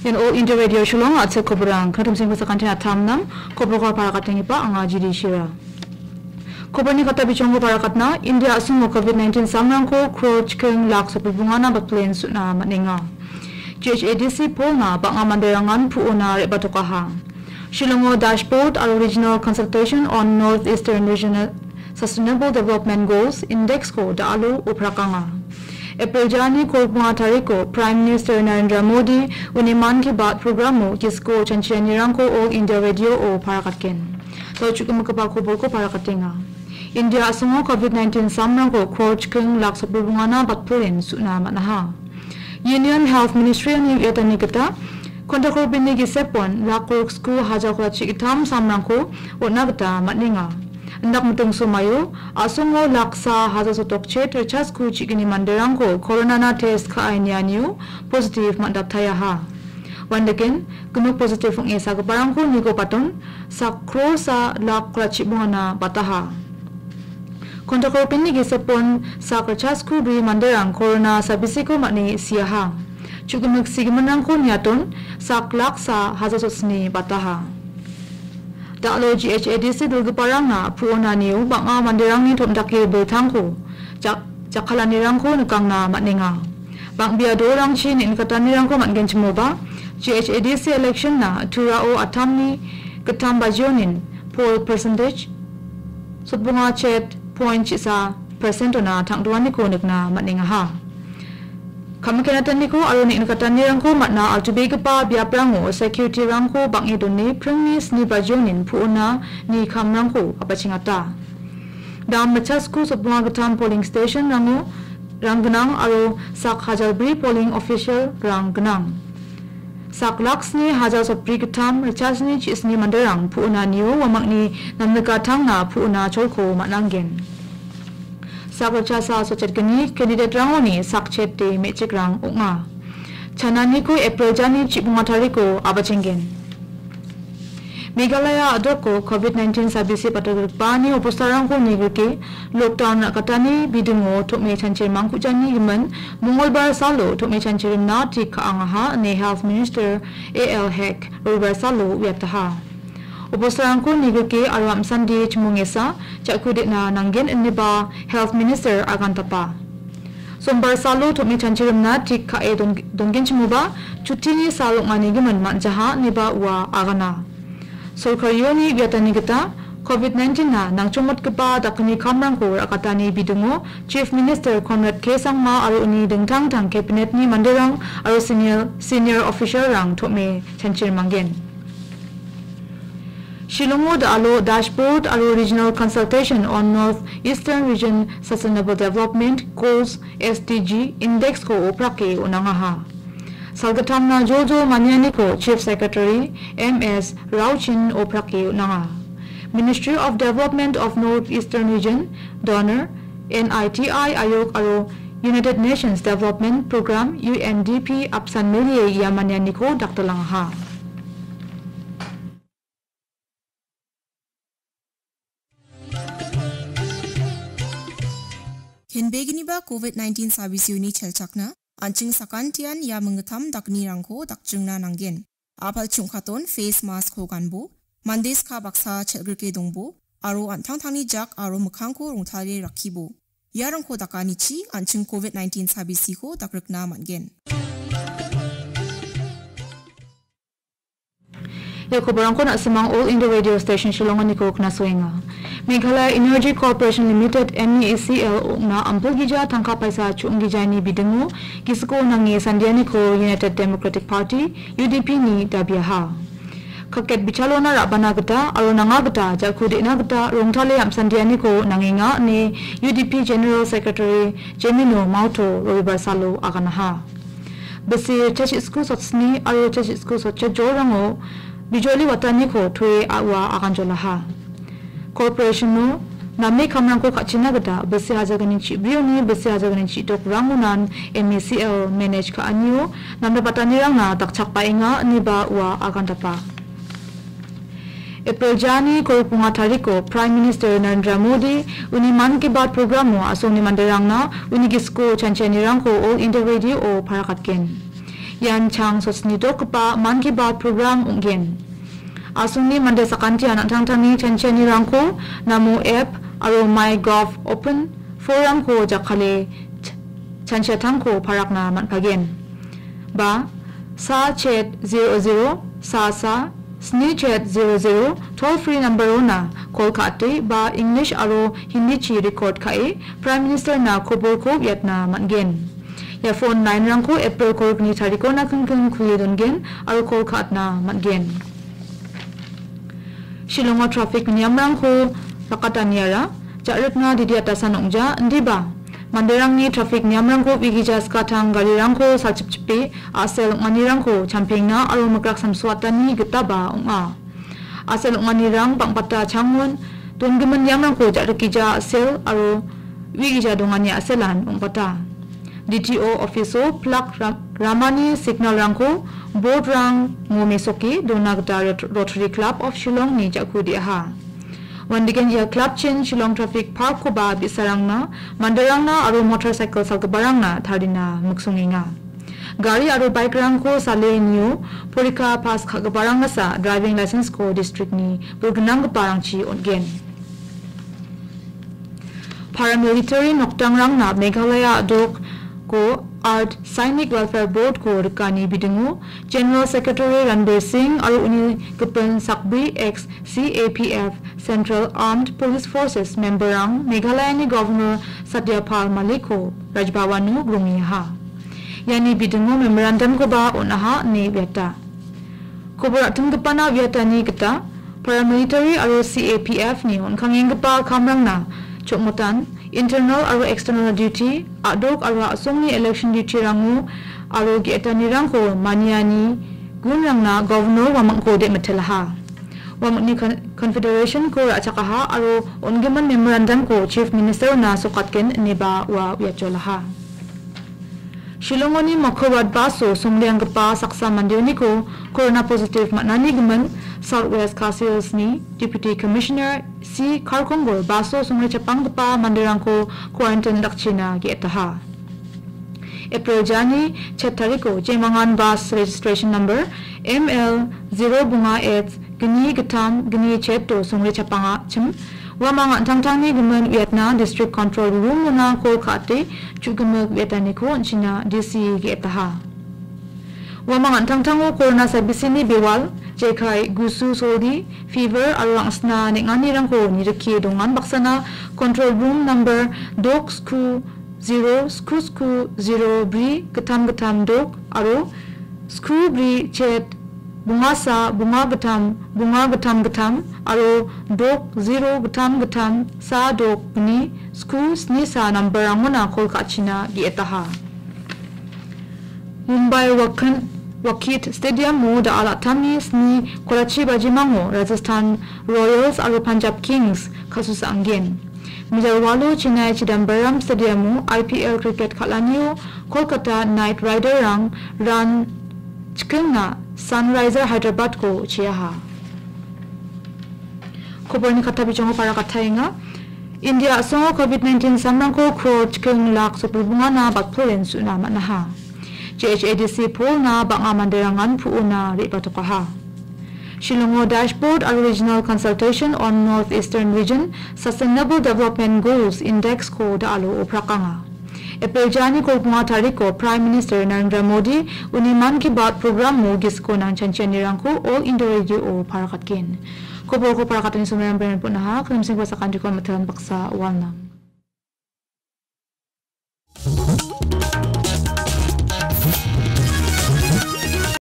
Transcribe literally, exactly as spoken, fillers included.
Ian All India Radio Shillong, a·chik koborang, knatumsengko sakantin atamnam, koborko parakatenggipa anga Jiri Shira. Koborni kata bichongko parakatna, India a·songo covid nineteen samrangko crore chiking lak sopibongana batplen suna man·enga. G H A D C polna bang·a manderangan pu·ona re·batokaha. Shillongo dashboard aro regional consultation on North Eastern Regional Sustainable Development Goals Index-ko da·alo oprakanga. April jani kolbonga tariko Prime Minister Narendra Modi uni Mann Ki Baat programo gisiko chanchianirangko All India Radio-o parakatgen. Tau chukgimikgipa kobolko parakatenga. India a·songo covid nineteen samrangko crore chiking lak sopibongana batplen suna man·aha. Union Health Ministry-ani uiatani gita, kontakrobini gisepon lak gorok sku hajar kolchi gittam samrangko on·a gita man·enga. Indak miting somaio a·songo laksa hajar sotokchet richa sku chigini manderangko coronana test ka·e nianio positive man·datayaha. Uandake gnok positive ong·e sagiparangko nigo paton sak krosa lak kolchi bongana bataha. Kontakrobini gisepon sak richa sku bri manderang corona sabisiko man·e siaha. Chukgimik sigiminrangko niaton sak laksa hajar sotni bataha. Da·alo G H A D C dilgiparangna pu·onanio bang·a manderangni tom·dake biltangko jak-, jakkalanirangko nikangna man·enga. Bang·bea dolrangchi neng·nikatanirangko man·genchimoba, G H A D C election-na Turao atamni gittam bajionin poll percentage sotbonga chet point chisa percent-ona tangdoaniko nikna man·engaha. Kam kenataniko aro neng·nikatanirangko man·a altubegipa biaprango security-rangko bang·e done pringni sni bajionin pu·ona ni kamrangko apachengata. Dam richa sku sotbonga gittam polling station-rango rang gnang aro sak hajar bri polling official-rang gnang. Sak lak sni hajar sotbri gittam richa sni chisni manderang pu·onanio uamangni namnikatangna pu·ona cholko man·angen. Sak richasa sotchetgni candidate-rangoni sak chete me·chikrang ong·a. Chananiko April jani chibonga tariko abachenggen. Meghalaya a·doko covid nineteen sabisi batalgrikbani obostarangko nigrike lockdown ra·katani bidingo tom·e chanchir mangkujani gimin Mongolbar salo tom·e chanchirimna tik ka·angaha ine Health Minister A L Hek Robibar salo uiataha. Obostarangko nigrike aro amsande chimongesa ja·ku de·na nanggen ineba Health Minister agantapa. Sombar salo tom·e chanchirimna tik ka·e don-, dongenchimoba, chutini sal ong·ani gimin man·jaha ineba ua agana. Sorkarioni uiatani gita, covid nineteen-na nangchongmotgipa dakgni kamrangko ra·katani bidingo Chief Minister Conrad K Sangma aro uni dingtang dingtang cabinet-ni manderang aro senior, senior official-rang tom·e chanchirimanggen. Shillongo da·alo Dashboard aro Regional Consultation on North Eastern Region Sustainable Development Goals, S D G, Index-ko oprake on·angaha. Salgittamna joljol manianiko Chief Secretary M S Rauchin oprake on·anga. Ministry of Development of North Eastern Region, donor, N I T I Ayog aro United Nations Development Programme, U N D P, apsan milie ia manianiko dakdalangaha. Henbegniba covid nineteen sabisioni chelchakna, an·ching sakantian ia minggittam dakgnirangko dakjingna nanggen. A·pal chungkaton face mask-ko ganbo, mande ska baksa chelgrike dongbo, aro an·tangtangni jak aro mikkangko rongtale rakkibo. Iarangko dakanichi an·ching covid nineteen sabisiko dakrikna man·gen. Ia koborangko na·simang All India Radio Station Shillonganiko knasoenga. Meghalaya Energy Corporation Limited, M E E C L, ong·na ampilgija tangka paisa chu·onggijani bidingo gisiko nange sandianiko United Democratic Party, U D P-ni dabiaha. Kaket bichalona ra·bana gita aro nanga gita ja·ku de·na gita rongtale amsandianiko nangenga ine U D P General Secretary Jemino Mauto Robibar salo aganaha. Bisi chasisku sotsni aro chasisku sotcha jorango bijoli wataniko toe a·ua aganjolaha. Corporation-o name kamrangko ka·china gita bisi hajalgni chibrioni bisi hajalgni chidokrangonan M E C L manage ka·anio namdabatanirangna dakchakbaenga ineba ua agandapa. April jani kolbonga tariko Prime Minister Narendra Modi uni Mann Ki Baat programo a·songni manderangna uni gisiko chanchianirangko All India Radio-o parakatgen. Ian chang sotni dokgipa Mann Ki Baat program ong·gen. Asongni mande sakantian an·tangtangni chanchianirangko Namo app aro MyGov open forum-ko jakkale ch-, chanchiatangko parakna man·pagen. Ba, sa chet zero zero, sa sa, sni chet zero zero toll free number-ona call ka·ate ba English aro Hindi-chi record ka·e Prime Minister-na koborko uiatna man·gen. Ia phone line-rangko April kolgni tarikona kingking kulie dongen aro call ka·atna man·gen. Shillongo traffic niamrangko rakataniara ja·rikna didi atasan ong·ja, indiba manderangni traffic niamrangko uigija skatang garirangko salchipchipe a·sel ong·anirangko champengna aro mikrak samsoatani gitaba ong·a. A·sel ong·anirang bang·bata changon dongimin niamrangko ja·rikgija a·sel aro uigija dongani a·selan ong·bata. D T O office-o plak ra-, ramani signal-rangko board-rango mesoke dona gita Rot-, Rotary Club of Shillong-ni ja·ku de·aha. Uandegen ia club-chin Shillong Traffic Park-koba bi·sarangna, manderangna aro motorcycle salgiparangna tarina miksongenga. Gari aro bike-rangko sale nio porikha pass ka·giparang gasa driving license-ko district-ni burgnanggiparangchi on·gen. Paramilitary nokdangrangna Meghalaya a·dokko Ard Sainik Welfare Board-ko rikani bidingo General Secretary Ranbir Singh aro uni gipin sakbri ex C A P F Central Armed Police Forces member-rang Meghalayani Governor Satya Pal Malik-ko Raj Bhavan-o grongiaha. Iani bidingo memorandum-koba on·aha ine uiata. Kobor a·tinggipana uiatani gita paramilitary aro C A P F-ni on·kangenggipa kamrangna chokmotan, internal aro external duty, a·dok aro a·songni election duty-rango aro ge·etanirangko maniani gunrangna Governor uamangko de·mitelaha. Uamangni con-, confederation-ko ra·chakaha aro on·gimin memorandum-ko Chief Minister-ona sokatgen ineba ua uiatjolaha. Shillongoni Mokhorat bus-o songrenggipa saksa mandeoniko corona positive man·ani gimin South West Khasi Hills-ni Deputy Commissioner C Kharkongor bus-o songre chapanggipa manderangko quarantine dakchina ge·etaha. April jani chet tariko jemangan bus registration number M L zero bunga H gni gittam gni chet-o songre chapangachim uamang an·tangtangni gimin uiatna District Control Room-ona call ka·ate chu·gimik uiataniko on·china D C ge·etaha. Uamang an·tangtango corona sabisini bewal, jekai gusu soldi, fever aro angsna neng·anirangko nirike dongan baksana Control Room number dok sku zero sku sku zero bri gittam gittam dok aro sku bri chet bungasa bunga gittam bunga gittam gittam aro dok zero gittam gittam sa dok gni sku sni sa number-rangona call ka·china ge·etaha. Mumbai Wakan-, Wakit Stadium-o da·al attamni sni kolachi bajimango Rajasthan Royals aro Punjab Kings ka·susa anggen. Mejal walo Chennai Chidambaram Stadium-o I P L cricket kal·anio Kolkata Knight Rider-rang run chikingna Sunriser Hyderabad-ko chiaha. Koborni katta bijongo para kataenga. India a·songo covid nineteen samrangko crore chiking lak sotbri bungana batpolen su·na man·aha. J H A D C polna bang·a manderangan pu·ona re·batokaha. Shillongo Dashboard aro Regional Consultation on North Eastern Region Sustainable Development Goals Index-ko da·alo oprakanga. April jani kolbonga tariko Prime Minister Narendra Modi uni Mann Ki Baat program-o gisiko nangchanchianirangko All India Radio-o parakatgen. Koborko parakatani somoian beren pun·aha, krimsingko sakantiko mitelan baksa walnang.